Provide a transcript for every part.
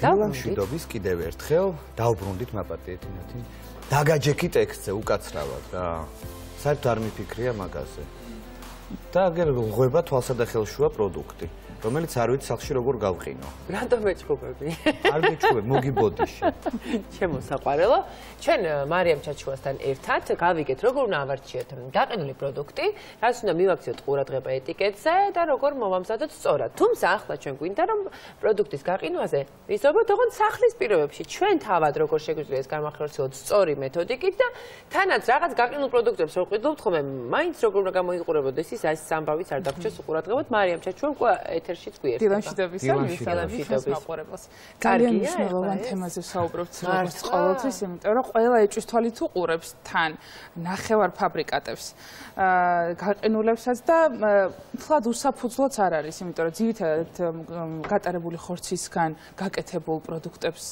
მშვიდობის კიდევ ერთხელ დავბრუნდით მაპატიეთ ინათი. დაგაჯექი ტექსტზე უკაცრავად და საერთოდ არ მიფიქრია მაგაზე. და აგერ ღვება თვალსა და ხელშუა პროდუქტი, რომელიც არ ვიცი სახში როგორ გავყინო. რატომ ეჭუბები? არ გეჭუბებ, მოგიბოდიში. ჩემო საყვარელო, ჩვენ მარიამ ჩაჩუასთან ერთად გავიგეთ როგორ უნდა ავარჩიოთ გაყინული პროდუქტი, რაც უნდა მივაქციოთ ყურადღება ეტიკეტზე და როგორ მოვამზადოთ სწორად. თუმცა ახლა ჩვენ გვინდა რომ პროდუქტის გაყინვაზე ვიზრდოთ ოღონდ სახლის პირობებში. ჩვენ თავად როგორ შეგვიძლია ეს განმახორციელოთ სწორი მეთოდიკით და თანაც რაღაც გაყინულ პროდუქტებს რო ყიდულობთ ხოლმე, მაინც როგორ უნდა გამოიყურებოდეს ის ეს სამბავიც არ დაგვრჩეს უყურადღებოთ. მარიამ ჩაჩუამ ეთერშიც გვიერთდა. დილამშვიდობის მაყურებელს. ძალიან მნიშვნელოვან თემაზე ვსაუბრობთ როგორც ყოველთვის, იმიტომ რომ ყველა ეჭვის თვალით უყურებს თან ნახევარ ფაბრიკატებს, გაყინულებსაც და თლად უსაფუძვლოც არ არის, იმიტომ რომ ძირითადად გატარებული ხორცისგან გაკეთებულ პროდუქტებს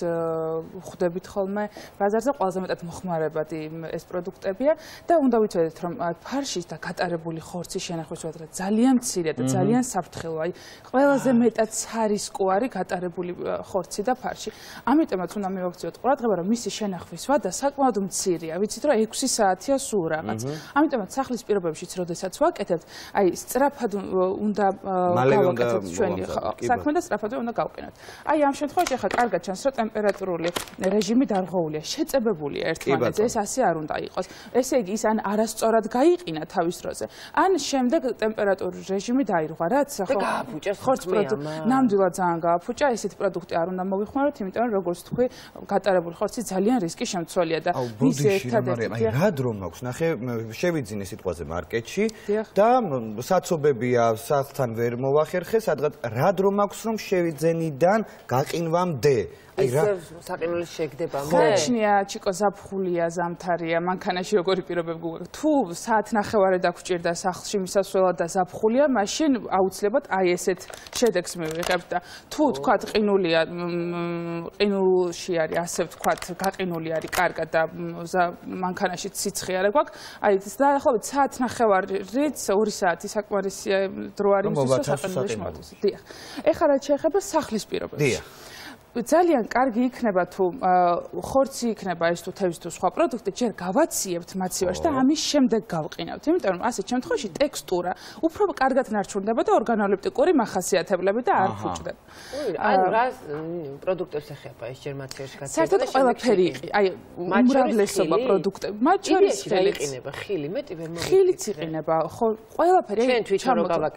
ხვდებით ხოლმე ბაზარზე, ყველაზე მეტად მოხმარებადი ეს პროდუქტებია და უნდა ვიცოდეთ რომ ფარშის და გატარებული ხორცის შენახვის ძალიან მცირე და ძალიან საფრთხილოა. ყველაზე მეტად სარისკო არის გატარებული ხორცი და ფარში. ამიტომაც უნდა მივაქციოთ ყურადღება, რომ მისი შენახვის ვადა საკმაოდ მცირეა. ვიცით რომ 6 საათია სულ რაღაც. ამიტომაც სახლის პირობებშიც როდესაც ვაკეთებთ, აი სწრაფად უნდა გავაკეთოთ ჩვენი საქმე და სწრაფად უნდა გავყინოთ. აი ამ შემთხვევაში ახლა კარგად ჩანს, რომ ტემპერატურული რეჟიმი დარღვეულია, შეწებებულია ერთმანეთზე, ეს ასე არ უნდა იყოს. ესე იგი ის ან არასწორად გაიყინა თავის დროზე, ან შემდეგ ტემპერატურული რეჟიმი დაირღვა, რაც ხორცს ნამდვილად ძალიან გააფუჭა, ესეთი პროდუქტი არ უნდა მოვიხმაროთ, იმიტომ რომ როგორც თქვი, გატარებული ხორცი ძალიან რისკის შემცველია და ის ერთადერთი რა დრო მაქვს, ნახე, შევიძინე სიტყვაზე მარკეტში და საცობებია სახლთან ვერ მოვახერხე, სადღაც რა დრო მაქვს რომ შევიძენიდან გაყინვამდე. საყინული შეგდებამდე. გაჩნია ჩიკო ზაფხულია, ზამთარია, მანქანაში როგორი პირობები გვაქვს. თუ საათნახევარი დაგჭირდა სახლში მისასვლელად და ზაფხულია, მაშინ აუცილებლად აი ესეთ შედეგს მივიღებთ და თუ თქვათ ყინულია, ყინულში არის ასე ვთქვათ, გაყინული არის კარგად და მანქანაში სიცხე არ გვაქვს, აი დაახლოებით საათნახევარით 2 საათი საკმარისი დრო არის იმისთვის, რომ საყინულში მოვაწყოთ. დიახ. ეხლა რაც შეეხება სახლის პირობებს. დიახ. ძალიან კარგი იქნება თუ ხორცი იქნება ეს თუ თევზი თუ სხვა პროდუქტი ჯერ გავაციებთ მაცივარში და ამის შემდეგ გავყინავთ. იმიტომ რომ ასეთ შემთხვევაში ტექსტურა უფრო კარგად ნარჩუნდება და ორგანოლეპტიკური მახასიათებლები და არ ფუჭდება. ანუ რა პროდუქტებს ეხება ეს ჯერ მაცივარში გაცემა? საერთოდ ყველაფერი იყი, აი უმრავლესობა პროდუქტები, მათ შორის ხილი მეტი ვერ მოვიდა. ხილიც იყინება, ხო, ყველაფერი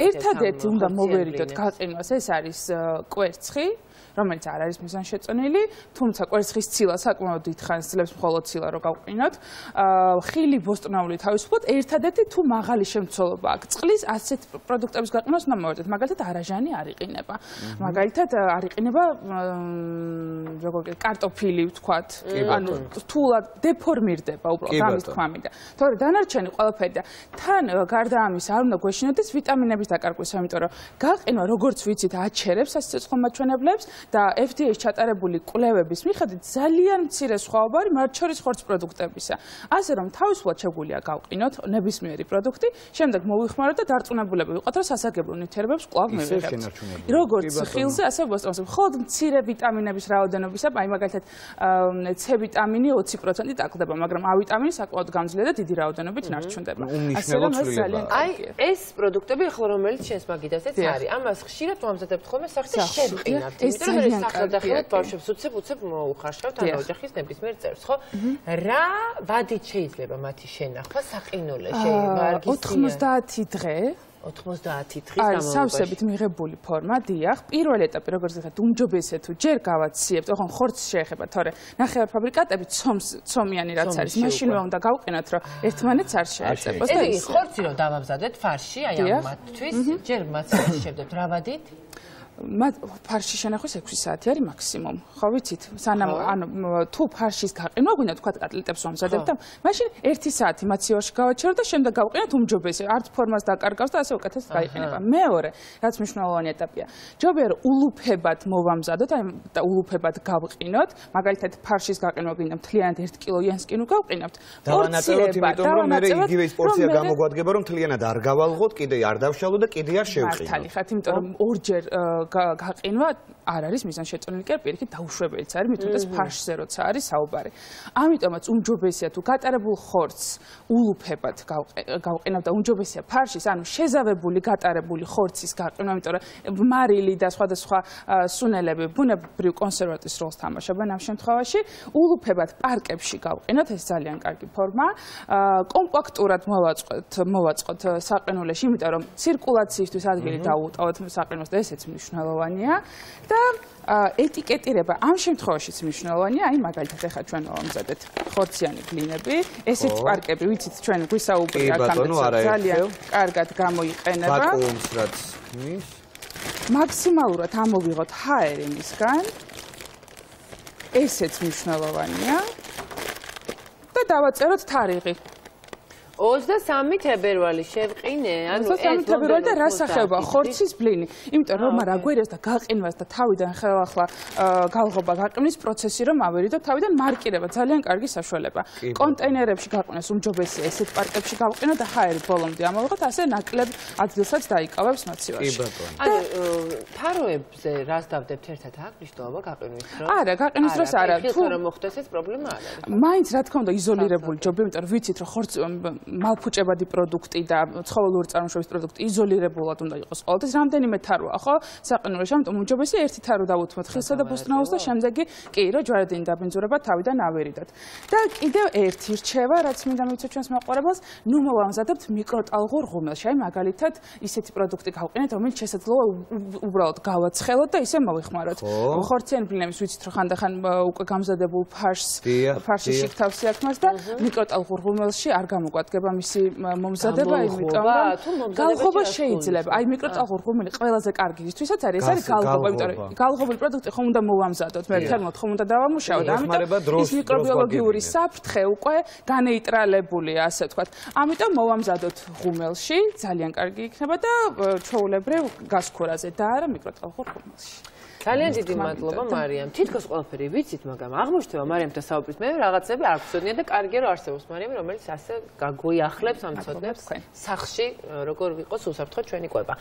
ერთადერთი უნდა მოვერიდოთ გაყინვას, ეს არის კვერცხი, რომელიც არ არის მიზანშეწონილი, თუმცა კვერცხის ცილა საკმაოდ დიდხანს ძლებს მხოლოდ ცილა რო გავყინოთ. ხილი ბოსტნეული თავისუფლად ერთადერთი თუ მაღალი შემცველობა აქვს. წყლის ასეთ პროდუქტების გაყინვას უნდა მოვერიდოთ. მაგალითად არაჟანი არ იყინება. მაგალითად არ იყინება როგორ კარტოფილი ვთქვათ, ანუ რთულად დეფორმირდება უბრალოდ ამის თქმა მინდა. თორე დანარჩენი ყველაფერი და თან გარდა ამის არ უნდა გვეშინოდეს ვიტამინების დაკარგვის, იმიტომ რომ გაყინვა როგორც ვიცით აჩერებს სიცოცხლემაჩვენებლებს და FDA-ს ჩატარებული კვლევების მიხედვით ძალიან მცირე სხვაობა არის მათ შორის ხორცს პროდუქტებისა. ასე რომ თავისუფლად შეგვიძლია გავყინოთ ნებისმიერი პროდუქტი, შემდეგ მოვიხმაროთ და დარწმუნებულები ვიყოთ, რომ სასარგებლო ნივთიერებებს კვლავ მივიღებთ. როგორც ხილზე, ასე ბოსტნეულზე. მხოლოდ მცირე ვიტამინების რაოდენობისა, აი მაგალითად C ვიტამინი 20% ტაკლდება, მაგრამ A ვიტამინი საკმაოდ გამძლეა და დიდი რაოდენობით ნარჩუნდება. ასე რომ ეს ძალიან აი ეს პროდუქტები ახლა რომელიც შენს მაგიდაზეც არის, ამას ხშირად ვამზადებთ ხოლმე სახში შევყინავთ. ძალიან კარგია. ბავშვებს უცებ მოუხარშავთ ან ოჯახის ნებისმიერ წევრს, ხო? რა ვადით შეიძლება მათი შენახვა საყინულეში? 90 დღე 90 დღის განმავლობაში. სავსებით მიღებული ფორმა, დიახ, პირველი ეტაპი როგორც ვთქვათ, უმჯობესია თუ ჯერ გავაციებთ, ოღონდ ხორცს შეეხება, თორე ნახევარ ფაბრიკატები ცომიანი რაც არის, მაშინვე უნდა გავყინოთ, რომ ერთმანეთს არ შეეწებოს და ეს ხორცი რომ დავამზადეთ ფარში, აი ამათთვის ჯერ მაცივარში შევდებთ რა ვადით? ფარში შენახვის 6 საათი არის მაქსიმუმ. ხო ვიცით? სანამ ანუ თუ ფარშის გაყინვა გვინდა თქვა კატლეტებს ვამზადებთ და მაშინ 1 საათი მაცივარში გავაჩეროთ და შემდეგ გავყინოთ უმჯობესია. არც ფორმას დაკარგავს და ასე უკეთეს გაიყინება. მეორე, რაც მნიშვნელოვანი ეტაპია. ჯობია რომ ულუფებად მოვამზადოთ, აი და ულუფებად გავყინოთ. მაგალითად ფარშის გაყინვა გვინდა მთლიანად 1 კილოიანს კი ნუ გავყინავთ. დავანაწილოთ, იმიტომ რომ მე იგივე ის პორცია გამოგვადგება, რომ მთლიანად არ გავალღოთ, კიდე არ დავშალოთ და კიდე არ შევყინოთ. მართალი ხართ, იმიტომ რომ ორჯერ გაყინვა არ არის მიზანშეწონილი კი პირიქით დაუშვებელიც არის მithumetes ფარშზე როცა არის საუბარი. ამიტომაც უმჯობესია თუ გატარებულ ხორცს ულუფებად გავყინავ და უმჯობესია ფარშის, ანუ შეზავებული გატარებული ხორცის გაყინვა, იმიტომ რომ მარილი და სხვადასხვა სუნელები ბუნებრივ კონსერვატის როლს თამაშობენ ამ შემთხვევაში. ულუფებად პარკებში გავყინოთ, ეს ძალიან კარგი ფორმა. კომპაქტურად მოვაწყოთ საყინულეში, იმიტომ რომ ცირკულაციისთვის ადგილი დაუუტოვოთ საყინულს და ესეც მნიშვნელოვანია. და ეტიკეტირება ამ შემთხვევაშიც მნიშვნელოვანია, აი მაგალითად ახლა ჩვენ ვამზადეთ ხორციანი ბლინები, ესეც პარკები, ვიცით ჩვენ გვისაუბრეთ აქამდე ძალიან კარგად გამოიყენება. ვაკუუმს რაც ქმნის. მაქსიმალურად ამოვიღოთ ჰაერი მისგან. ესეც მნიშვნელოვანია. და დავაწეროთ თარიღი. 23 თებერვალი შევყინე, ანუ 23 თებერვალი და რა სახეობა ხორცის ბლინი. იმიტომ რომ რა გვერდას და გაყინვას და თავიდან ხელახლა გალღობა გაყინვის პროცესი რომ ავერიდო, თავიდან მარკირება ძალიან კარგი საშუალება. კონტეინერებში გაყინოს უმჯობესია ესეთ პარკებში გავყინო და ჰაერი ბოლომდე ამოვიღოთ, ასე ნაკლებ ადგილსაც დაიკავებს მოცივაში. ანუ თაროებზე რას დავდებთ ერთად აქ მნიშვნელობა გაყინვის დროს? არა, გაყინვის დროს არა. თუ რომ მოხდეს ეს პრობლემა არ არის. მაინც რა თქმა უნდა იზოლირებული ჯობია, იმიტომ რომ ვიცით რომ ხორცი მალფუჭებადი პროდუქტი და ცხოველური წარმოშობის პროდუქტი იზოლირებულად უნდა იყოს ყოველთვის. რამდენიმე თაროა, ხო? საყინულეში, ამიტომ უმჯობესია ერთი თარო დავუთმოთ ხილსა და ბოსტნეულს და შემდეგი კი რომ ჯვარედინი დაბინძურება თავიდან ავერიდოთ. და კიდევ ერთი რჩევა, რაც მინდა მივიცოთ ჩვენს მაყურებელს, ნუ მოვამზადებთ მიკროტალღურ ღუმელში. აი მაგალითად, ისეთი პროდუქტი გავყინეთ, რომელიც შესაძლოა უბრალოდ გავაცხელოთ და ისე მოვიხმაროთ. ხორციანი ბლინების ვიცით რომ ხანდახან უკვე გამზადებულ ფარშის შიგთავს იაქმას და მიკროტალღურ ღუმელში არ გამოგვადგება მისი მომზადება, იმიტომ რომ გალღობა შეიძლება. აი მიკროტალღურ ღუმელი ყველაზე კარგი ისთვისაც არის, ეს არის გალღობა, იმიტომ რომ გალღობილი პროდუქტი ხომ უნდა მოვამზადოთ, მე თერმოთ ხომ უნდა დავამუშავოთ, ამიტომ ის მიკრობიოლოგიური საფრთხე უკვე განეიტრალებულია, ასე ვთქვათ. ამიტომ მოვამზადოთ ღუმელში, ძალიან კარგი იქნება და ჩვეულებრივ გასქურაზე და არა მიკროტალღურ ღუმელში. ძალიან დიდი მადლობა მარიამ. თითქოს ყველაფერი ვიცით, მაგრამ აღმოჩნდება მარიამთან საუბრის მე რაღაცები არ გვცოდნია და კარგია რომ არსებობს მარიამ, რომელიც ასე გაგვიახლებს ამ ცოდნებს სახში, როგორ ვიყოს უსაფრთხო ჩვენი კვება.